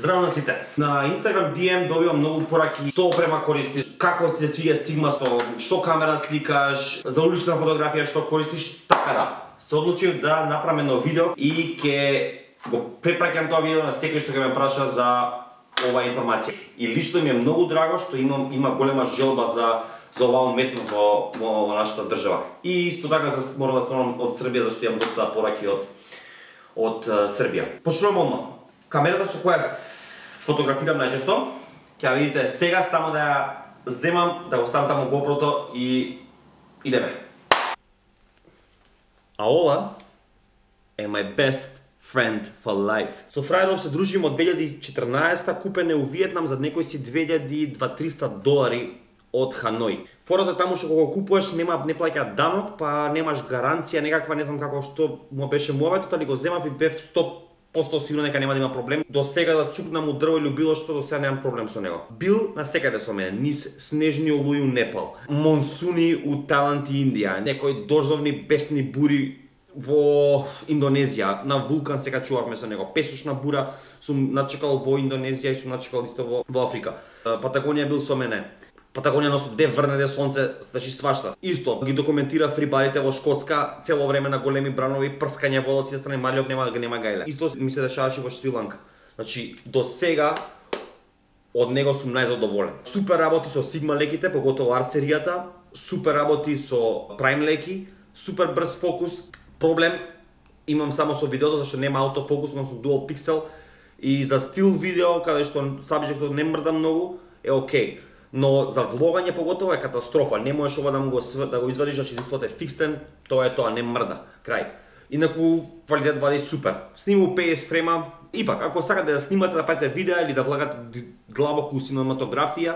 Здраво на сите. На Instagram DM добивам многу пораки што опрема користиш, како ти се свиѓа Sigma со што камера сликаш, за улична фотографија што користиш, така да. Се одлучив да направам едно видео и ќе го препраќам тоа видео на секој што ќе ме праша за оваа информација. И лично ми е многу драго што има голема желба за оваа уметност во нашата држава. И исто така морам да спомнам од Србија зашто имам доста пораки од Србија. Почнувам одма. Камерата со која фотографирам најчесто, ќе видите сега, само да ја земам, да го ставам таму GoPro-то и идеме. А ова е my best friend for life. Со фрајеров се дружим од 2014-та, купен е у Виетнам за некои си $2200 од Ханој. Фората таму што кога го купуваш не плаќа данок, па немаш гаранција некаква, не знам како што му беше муаветот, али го земав и бев 100% сигурно дека нема да има проблем. До сега да чукнам у дрво или било што, до сега немам проблем со него. Бил насекаде со мене, низ снежни олуи у Непал, монсуни у Тајланд и Индија, некои дождовни бесни бури во Индонезија, на вулкан се качувавме со него. Песочна бура сум начекал во Индонезија и сум начекал исто во Африка. Патагонија бил со мене. Патагонија носот де врне де сонце, значи свашта. Исто ги документира фрибарите во Шкотска, цело време на големи бранови, прскање во од сите страни, Малиов нема гајле. Исто ми се дешаваше во Шри-Ланка. Значи до сега од него сум најзадоволен. Супер работи со Sigma леките, поготово арцеријата, супер работи со Prime леки, супер брз фокус. Проблем имам само со видеото зашто нема автофокус, но со dual pixel и за стил видео каде што сабјектот не мрда многу е окей. Но за влогање поготово е катастрофа. Не можеш ова да го извадиш, значи дисплејот е фиксен, тоа е тоа, не мрда. Крај. Инаку квалитет вали супер. Сниму 50 фрема. Ипак, ако сакате да снимате, да правите видеа или да влагате длабоко у синематографија,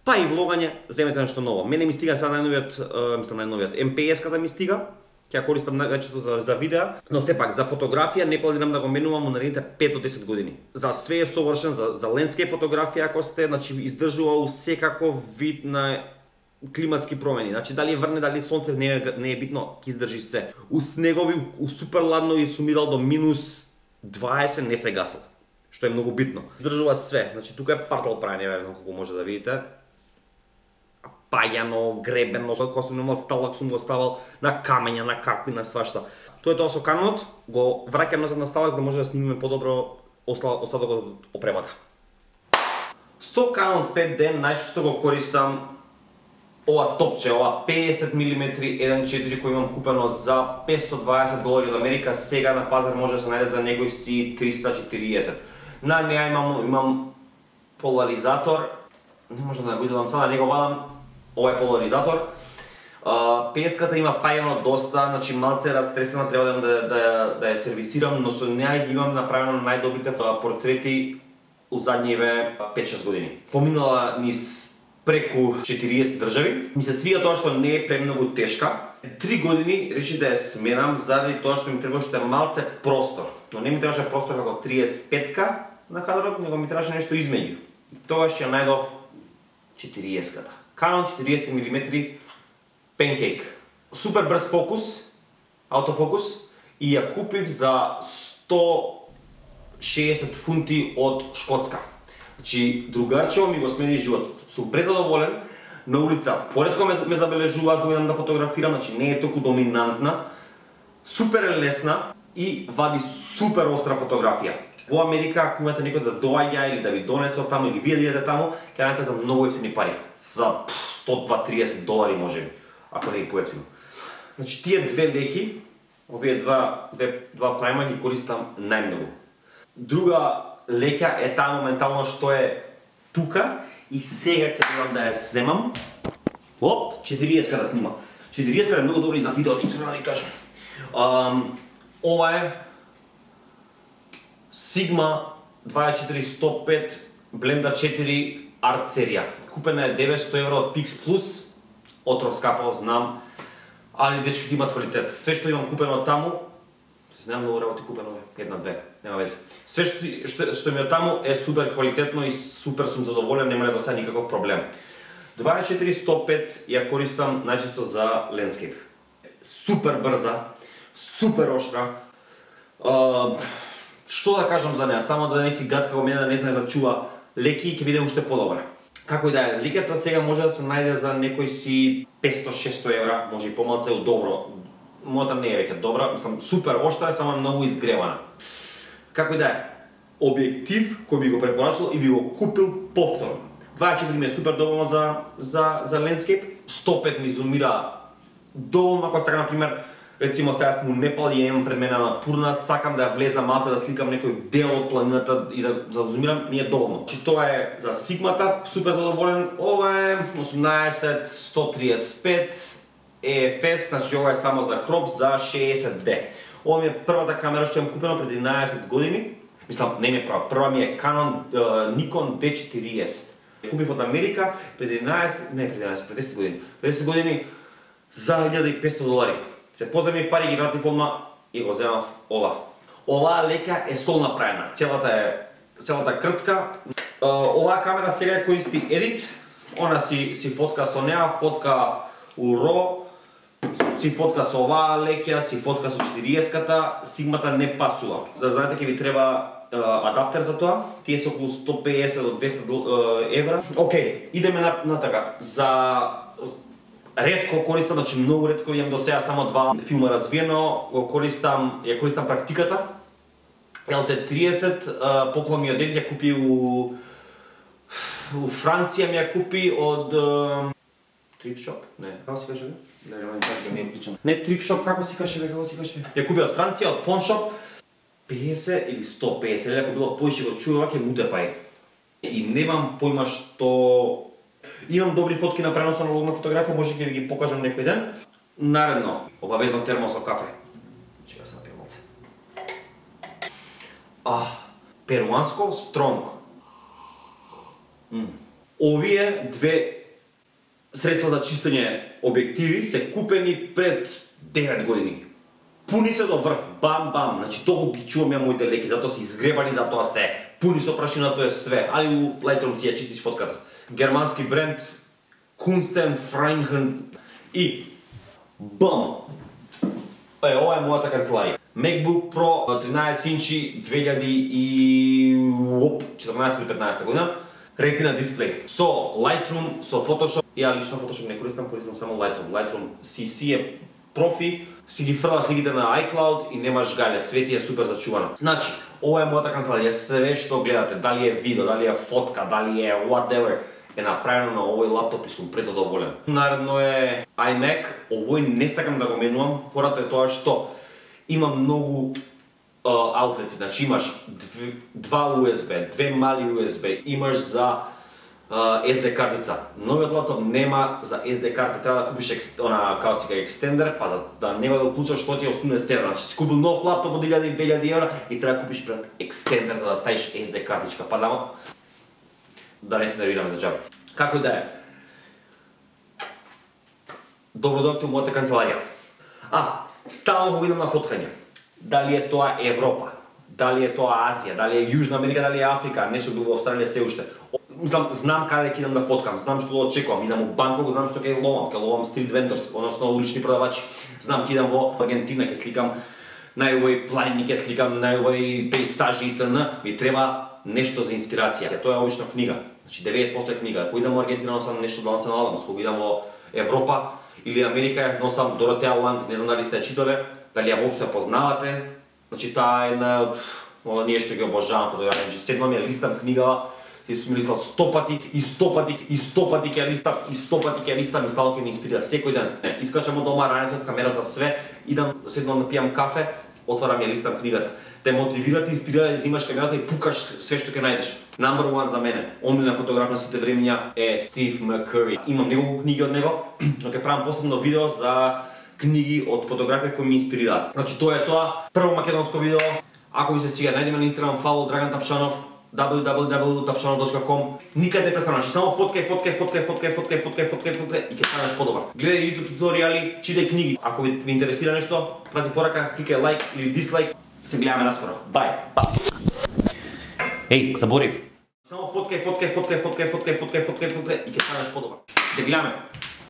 па и влогање, земете нешто ново. Мене ми стига сега најновиот MPS-ката ми стига. Ќе ја користам најчесто за видеа, но сепак за фотографија не планирам да го менувам у наредните 5 до 10 години. За све е совршен, за лендскейп фотографија ако сте, значи издржува у секаков вид на климатски промени. Значи дали врне, дали сонце, не е битно, ќе издржи се. У снегови, у супер ладно и сум идал до минус 20 не се гасат, што е многу битно. Издржува све. Значи тука е партал прајање, не знам колку може да видите. Пајано, гребено, кога сум имал сталак сум го ставал на камења, на какви, на свашта. Тоа е тоа со Канонот, го враќам назад на сталак да може да снимиме подобро остатокот од опремата. Со Canon 5D најчесто го користам ова топче, ова 50 mm 1.4 кој имам купено за $520 од Америка, сега на пазар може да се најде за некој си 340. На неа имам поларизатор, не може да го извадам сега, не го вадам. Ова е поларизатор. 50-ката има пајано доста, значи малце растресена, треба да ја сервисирам, но со неа ги имам направено најдобрите портрети у задниве 5-6 години. Поминала низ преку 40 држави. Ми се свија тоа што не е премногу тешка. 3 години решив да ја сменам заради тоа што ми требаше малце простор. Но не ми требаше простор како 35-ка на кадрот, него ми требаше нешто измеѓу. Тогаш ја најдов 40-ката. Canon 40 mm Pancake. Супер брз фокус, автофокус, и ја купив за 160 фунти од Шкотска. Значи, другарчево ми го смени животот. Сум презадоволен, на улица поретко ме забележуваат кога идам да фотографирам, значи не е толку доминантна, супер е лесна и вади супер остра фотографија. Во Америка, ако имате некој да доаѓа или да ви донесе од таму или вие да идете таму, ќе најдете за многу ефтини пари. За $130 може би, ако не и поевтино. Значи тие две леки, овие два прайма ги користам најмногу. Друга леќа е таа моментално што е тука и сега ќе требам да ја земам. Оп, 40-ка да снима. 40-ка е многу добри за видео, искрено да ви кажам. Ова е Sigma 24-105 Blenda 4 Art серија. Купена е €900 од Pix+, отров скапо, знам, али дечките имат квалитет. Све што имам купено таму, се знам многу работи купено, една-две, нема везе. Све што ми е таму е супер квалитетно и супер сум задоволен, нема до сега никаков проблем. 24-105 ја користам најчесто за landscape. Супер брза, супер оштра. Што да кажам за неа, само да не си гад како мене, да не знае да чува леки и ќе биде уште подобра. Како и да е, ликата сега може да се најде за некој си 500-600 евра, може и помалку е добро. Мојата не е веќе добра, мислам супер оштра е, само е многу изгревана. Како и да е, објектив кој би го препорачал и би го купил повторно. 24 ми е супер доволно за landscape, 105 ми зумира доволно, ако сака, например, рецимо сега сме у Непал и имам пред мене на Пурна, сакам да ја влезам малце да сликам некој дел од планината и да зумирам, ми е доволно. Значи тоа е за Сигмата, супер задоволен, ова е 18-135 EFS, значи ова е само за кроп за 60D. Ова ми е првата камера што имам купено пред 11 години. Мислам, не ми е прва ми е Canon Nikon D4S. Купив од Америка пред 10 години. Пред 10 години за $1500. Се поземив пари, ги вратив одма и го земав ова. Оваа лека е сол направена. Целата крцка. Оваа камера сега користи Edit. Она си фотка со неа, фотка у RAW, си фотка со оваа лекја, си фотка со 40-ката, Сигмата не пасува. Да знаете, ќе ви треба адаптер за тоа, тие се околу 150 до 200 евра. Океј, идеме на така. За ретко користам, значи многу ретко, имам до сега само 2 филма развиено, ја користам практиката. LT30, поклон ми од дед, ја купи у Франција, ми ја купи од Thrift Shop? Не, како си каже? Не Thrift Shop, како си каже? Ја купи од Франција, од Pawn Shop, 50 или 150, или ако било поише го чува, ќе муте пај. И немам појма што... Имам добри фотки на пренос на аналогна фотографија, може ќе ви ги покажам некој ден. Наредно, обавезно термос со кафе. Чека се напијам малце. Перуанско Стронг. Овие две средства за чистење објективи се купени пред 9 години. Пуни се до врв, бам, значи толку ги чувам ја моите леки, затоа се изгребани, затоа се пуни со прашина, тоа е све, али у Lightroom си ја чистиш фотката. Германски бренд, Kunsten, Franken и бам! Ова е мојата канцеларија. MacBook Pro 13 инчи 2014 или 15 година, Retina дисплей. Со Lightroom, со Photoshop, ја лично Photoshop не користам само Lightroom. Lightroom CC е профи, си ги фрлаш сликите на iCloud и немаш гале, све ти е супер зачувано. Значи, ова е мојата канцеларија, све што гледате, дали е видео, дали е фотка, дали е whatever, е направено на овој лаптоп и сум презадоволен. Наредно е iMac, овој не сакам да го менувам, фората е тоа што има многу аутлети, значи имаш два USB, две мали USB, имаш за SD картица. Новиот лаптоп нема за SD картица, треба да купиш како си екстендер, па за да нема да уклучаш што ти е основен сервер. Значи си купил нов лаптоп од 1000-2000 евра и треба да купиш пред екстендер за да ставиш SD картичка, па да не се нервирам за џабе. Како и да е. Добро дојдовте у мојата канцеларија. Стално го идам на фоткање. Дали е тоа Европа, дали е тоа Азија, дали е Јужна Америка, дали е Африка, не сум бил во Австралија се уште. Знам каде ќе идам да фоткам, знам што да очекувам, идам у Банкок, знам што ќе ловам стрит вендорс, односно улични продавачи. Знам ќе идам во Аргентина, ќе сликам најубави планини, ќе сликам најубави пейсажи и т.н. Ми треба нешто за инспирација. Тоа е обично книга. Значи 90% е книга. Ако идам во Аргентина, носам нешто да Национал Адамс. Ако идам во Европа или Америка, носам Доротеа Ланг, не знам дали сте ја читале, дали ја воопшто познавате. Значи таа е една од ние што ги обожавам фотографија. Значи седнам ја листам книгава, и сум листал 100 пати и 100 пати и 100 пати ќе листам и 100 пати ќе листам и стално ќе ме инспирира секој ден. Искачам од дома раницата, камерата, све, идам, седнам да пијам кафе, отварам ја листам книгата. Те мотивира, те инспирира да взимаш камерата и пукаш све што ќе најдеш. Number one за мене, омилен фотограф на сите времења е Стив Маккури. Имам неколку книги од него, но ќе правам посебно видео за книги од фотографија кои ме инспирираат. Значи тоа е тоа, прво македонско видео. Ако ви се свига, најдете на Инстаграм follow Драган Тапшанов, www.tapšanov.com. Никаде не престануваш, само фоткај и ќе станеш подобар. Гледај YouTube туторијали, читај книги. Ако ви интересира нешто, прати порака, кликај лайк или дислайк. Се гледаме наскоро. Бај. Еј, заборив. Само фоткај и ќе станеш подобар. Се гледаме.